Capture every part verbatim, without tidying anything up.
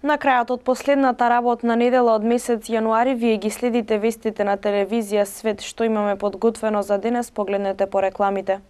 На крајот од последната работна недела од месец јануари вие ги следите вестите на телевизија Свет. Што имаме подготвено за денес, погледнете по рекламите.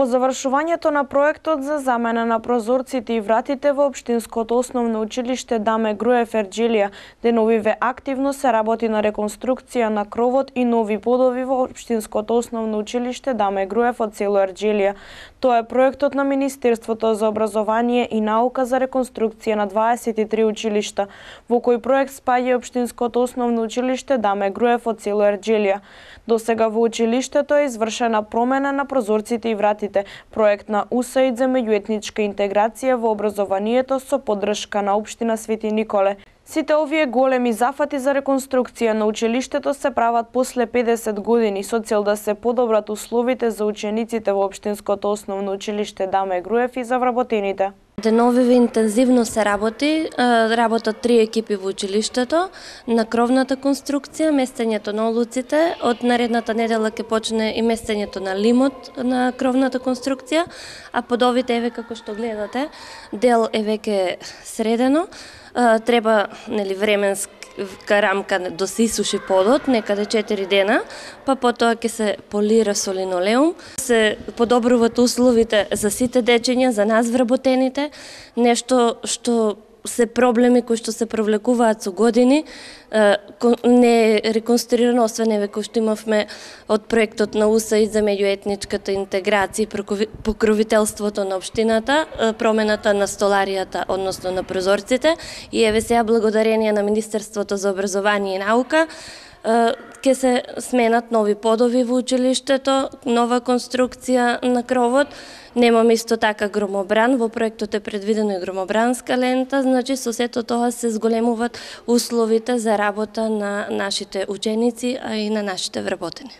По завршувањето на проектот за замена на прозорците и вратите во Општинското основно училиште Даме Груев Ерџелија, деновиве активно се работи на реконструкција на кровот и нови подови во Општинското основно училиште Даме Груев од село Ерџелија. Тоа е проектот на Министерството за образование и наука за реконструкција на дваесет и три училишта, во кој проект спаѓа Општинското основно училиште Даме Груев од село Ерџелија. До сега во училиштето е извршена промена на прозорците и вратите, проект на У С А И Д за меѓуетничка интеграција во образованието со поддршка на Општина Свети Николе. Сите овие големи зафати за реконструкција на училиштето се прават после педесет години со цел да се подобрат условите за учениците во Општинското основно училиште Даме Груев и за вработените. Деновиве интензивно се работи, работат три екипи во училиштето на кровната конструкција, местењето на олуците, од наредната недела ќе почне и местењето на лимот на кровната конструкција, а подовите еве како што гледате, дел е веќе средено, треба нели временска рамка да се исуши подот, некаде четири дена, па потоа ќе се полира со линолеум, се подобруваат условите за сите дечиња, за нас вработените, нешто што се проблеми кои што се провлекуваат со години, не е реконструирано, освен еве кој што имавме од проектот на У С А И Д за меѓуетничката интеграција и покровителството на општината, промената на столаријата, односно на прозорците, и еве сега благодарение на Министерството за образование и наука ќе се сменат нови подови во училиштето, нова конструкција на кровот. Немаме исто така громобран, во проектот е предвидено и громобранска лента, значи со сето тоа се зголемуваат условите за работа на нашите ученици, а и на нашите вработени.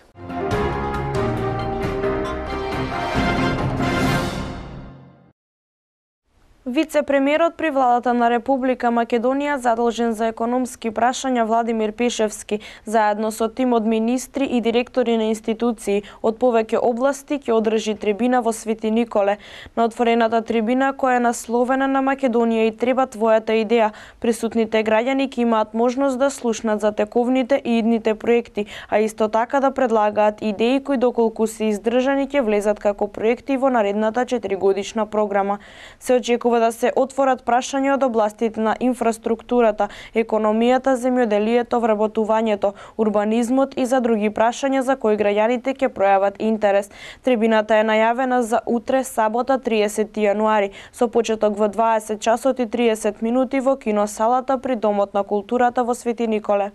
Вице-премиерот при владата на Република Македонија задолжен за економски прашања Владимир Пешевски, заедно со тим од министри и директори на институции од повеќе области ќе одржи трибина во Свети Николе. На отворената трибина, која е насловена на Македонија и треба твојата идеја, присутните граѓани ќе имаат можност да слушнат за тековните и идните проекти, а исто така да предлагаат идеи кои доколку се издржани ќе влезат како проекти во наредната четиригодишна програма. Се очекува да се отворат прашања од областите на инфраструктурата, економијата, земјоделието, вработувањето, урбанизмот и за други прашања за кои граѓаните ќе пројават интерес. Трибината е најавена за утре, сабота, триесети јануари, со почеток во дваесет часот и триесет минути во киносалата при Домот на културата во Свети Николе.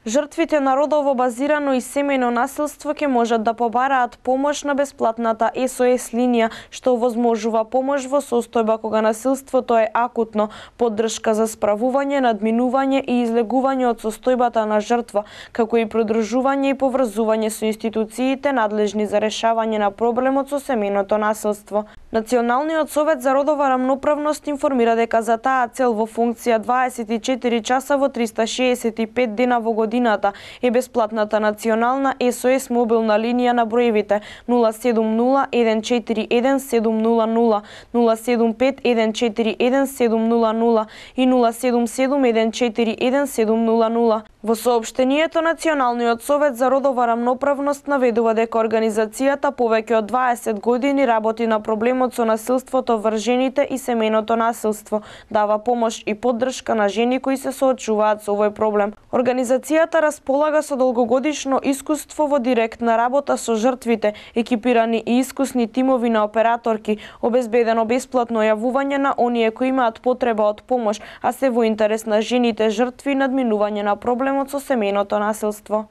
Жртвите на родово базирано и семејно насилство ќе можат да побараат помош на бесплатната С О С линија, што овозможува помош во состојба кога насилството е акутно, поддршка за справување, надминување и излегување од состојбата на жртва, како и продржување и поврзување со институциите надлежни за решавање на проблемот со семејното насилство. Националниот совет за родова рамноправност информира дека за таа цел во функција дваесет и четири часа во триста шеесет и пет дена во година годината е бесплатната национална ес о ес мобилна линија на броевите нула седум нула еден четири еден седум нула нула, нула седум пет еден четири еден седум нула нула и нула седум седум еден четири еден седум нула нула. Во соопштенијето Националниот совет за родова рамноправност наведува дека организацијата повеќе од дваесет години работи на проблемот со насилството врз жените и семејното насилство, дава помош и поддршка на жени кои се соочуваат со овој проблем. Организацијата располага со долгогодишно искуство во директна работа со жртвите, екипирани и искусни тимови на операторки, обезбедено бесплатно јавување на оние кои имаат потреба од помош, а се во интерес на жените жртви и надминување на проблемот со семејното насилство.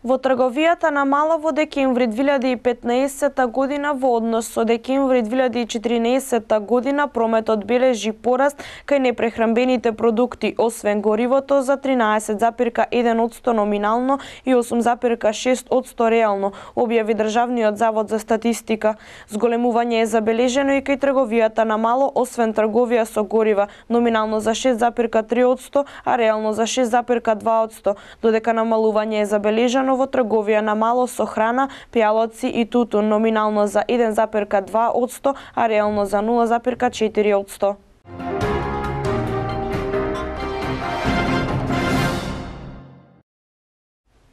Во трговијата на мало во декември две илјади и петнаесетта година во однос со декември две илјади и четиринаесетта година прометот бележи пораст кај непрехранбените продукти, освен горивото за тринаесет запирка еден одсто номинално и осум запирка шест одсто реално, објави Државниот завод за статистика. Зголемување е забележено и кај трговијата на мало, освен трговија со горива, номинално за шест запирка три одсто, а реално за шест запирка два одсто, додека намалување е забележано во трговија на мало со храна, пијалоци и тутун, номинално за еден запирка два одсто, а реално за нула запирка четири одсто.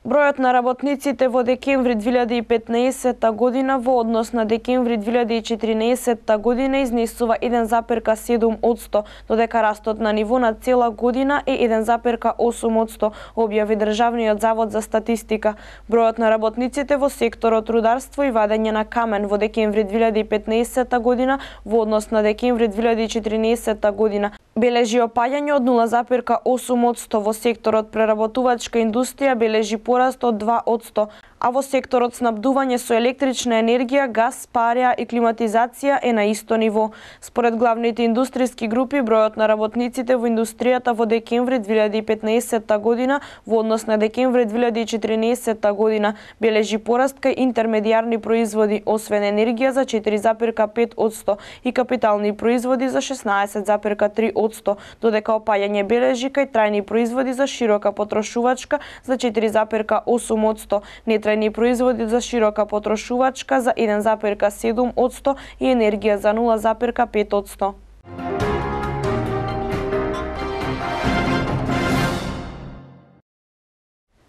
Бројот на работниците во декември две илјади и петнаесетта година во однос на декември две илјади и четиринаесетта година изнесува еден запирка седум одсто, додека растот на ниво на цела година е еден запирка осум одсто, објави Државниот завод за статистика. Бројот на работниците во секторот рударство и вадење на камен во декември две илјади и петнаесетта година во однос на декември две илјади и четиринаесетта година бележи опаѓање од нула запирка осум одсто, во секторот преработувачка индустрија бележи пораст од два одсто, а во секторот снабдување со електрична енергија, газ, пареа и климатизација е на исто ниво. Според главните индустријски групи, бројот на работниците во индустријата во декември две илјади и петнаесетта година во однос на декември две илјади и четиринаесетта година бележи пораст кај интермедијарни производи, освен енергија за четири запирка пет одсто и капитални производи за шеснаесет запирка три одсто, додека опаѓање бележи кај трајни производи за широка потрошувачка за четири запирка осум одсто, нетрајни производи за широка потрошувачка за еден запирка седум одсто и енергија за нула запирка пет одсто.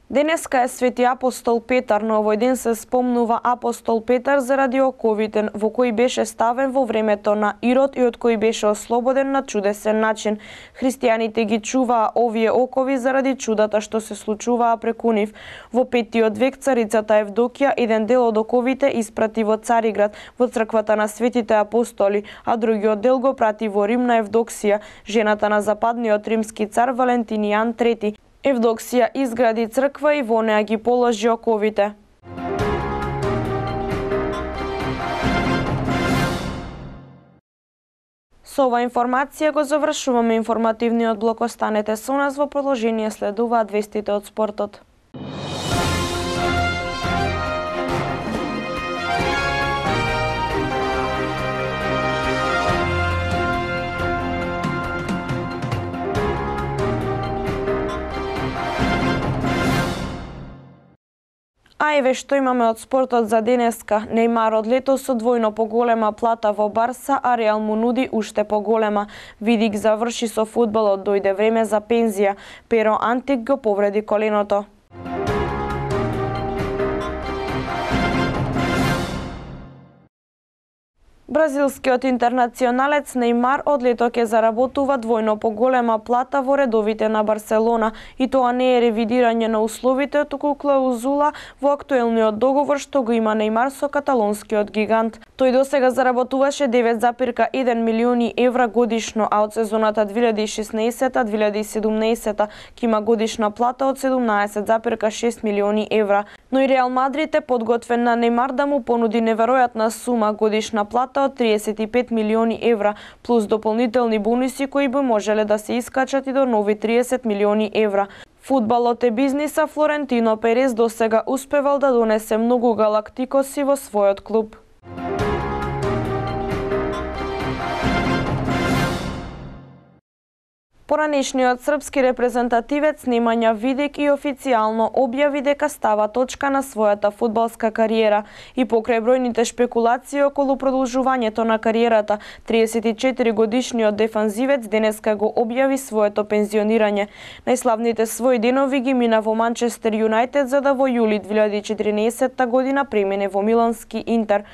Денеска е Свети апостол Петар, но овој ден се спомнува апостол Петар заради оковите во кои беше ставен во времето на Ирод и од кои беше ослободен на чудесен начин. Христијаните ги чуваа овие окови заради чудата што се случуваа преку нив. Во петтиот век царицата Евдокија еден дел од оковите испрати во Цариград, во црквата на светите апостоли, а другиот дел го прати во Рим на Евдоксија, жената на западниот римски цар Валентинијан трети. Евдоксија изгради црква и во неа ги положи оковите. Со ова информација го завршуваме информативниот блок. Останете со нас, во продолжение следуваат вестите од спортот. А еве што имаме од спортот за денеска. Нејмар од лето со двојно поголема плата во Барса, а Реал му нуди уште поголема. Видик заврши со фудбалот, дојде време за пензија. Перо Антик го повреди коленото. Бразилскиот интернационалец Нејмар од лето ќе заработува двојно поголема плата во редовите на Барселона, и тоа не е ревидирање на условите, туку клаузула во актуелниот договор што го има Нејмар со каталонскиот гигант. Тој досега заработуваше девет запирка еден милиони евра годишно, а од сезоната две илјади и шеснаесетта две илјади и седумнаесетта ќе има годишна плата од седумнаесет запирка шест милиони евра. Но и Реал Мадрид е подготвен на Нејмар да му понуди неверојатна сума, годишна плата од триесет и пет милиони евра, плюс дополнителни бонуси кои би можеле да се искачат и до нови триесет милиони евра. Фудбалот е бизнис, а Флорентино Перес досега успевал да донесе многу галактикоси во својот клуб. Поранешниот српски репрезентативец Немања Видик и официјално објави дека става точка на својата фудбалска кариера и покрај бројните шпекулации околу продолжувањето на кариерата, триесет и четири годишниот дефанзивец денеска го објави своето пензионирање. Најславните своји денови ги мина во Манчестер Юнајтед, за да во јули две илјади и четиринаесетта година премине во милански Интер.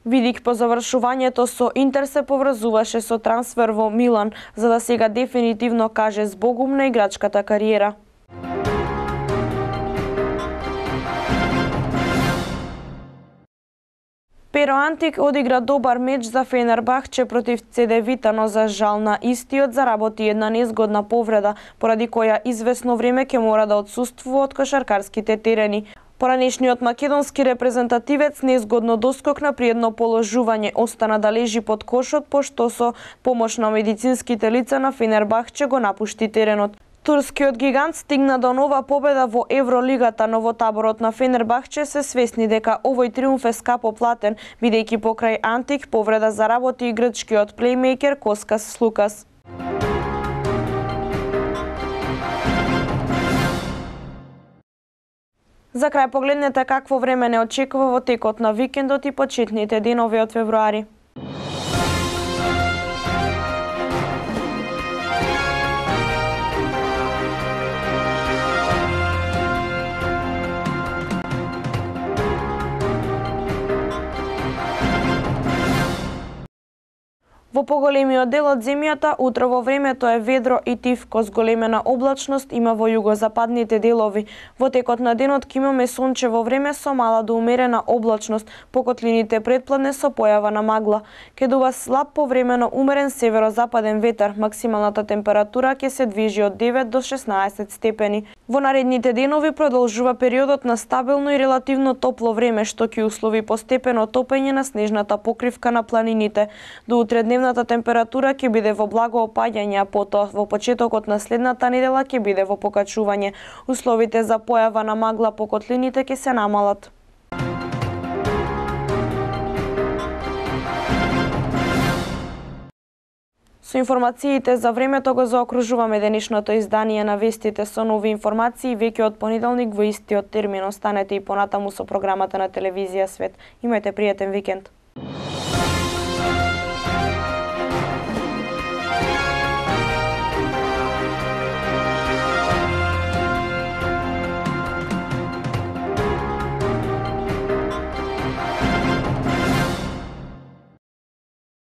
Видик по завршувањето со Интер се поврзуваше со трансфер во Милан, за да сега дефинитивно каже збогум на играчката кариера. Перо Антик одигра добар меч за Фенербахче против Цедевита, но за жал на истиот заработи една незгодна повреда, поради која извесно време ќе мора да отсуствува од кошаркарските терени. Поранешниот македонски репрезентативец незгодно доскокна при едно положување, остана да лежи под кошот, пошто со помош на медицинските лица на Фенербахче го напушти теренот. Турскиот гигант стигна до нова победа во Евролигата, но во таборот на Фенербахче се свесни дека овој триумф е скапо платен, бидејќи покрај Антик повреда заработи и грчкиот плеймејкер Коскас Слукас. За крај погледнете какво време не очекува во текот на викендот и почетните денови од февруари. Во поголемиот дел од земјата, утро во времето е ведро и тивко, зголемена облачност има во југозападните делови. Во текот на денот ќе имаме сончево време со мала до умерена облачност, по котлините предпладне со појава на магла. Ке дува слаб повремено умерен северозападен ветар, максималната температура ќе се движи од девет до шеснаесет степени. Во наредните денови продолжува периодот на стабилно и релативно топло време, што ќе услови постепено топење на снежната покривка на планините. До утре дневната температура ќе биде во благо опаѓање, а потоа во почетокот на следната недела ќе биде во покачување. Условите за појава на магла по котлините ќе се намалат. Со информациите за времето го заокружуваме денешното издание на вестите. Со нови информации веќе од понеделник во истиот термин. Останете и понатаму со програмата на телевизија Свет. Имајте пријатен викенд.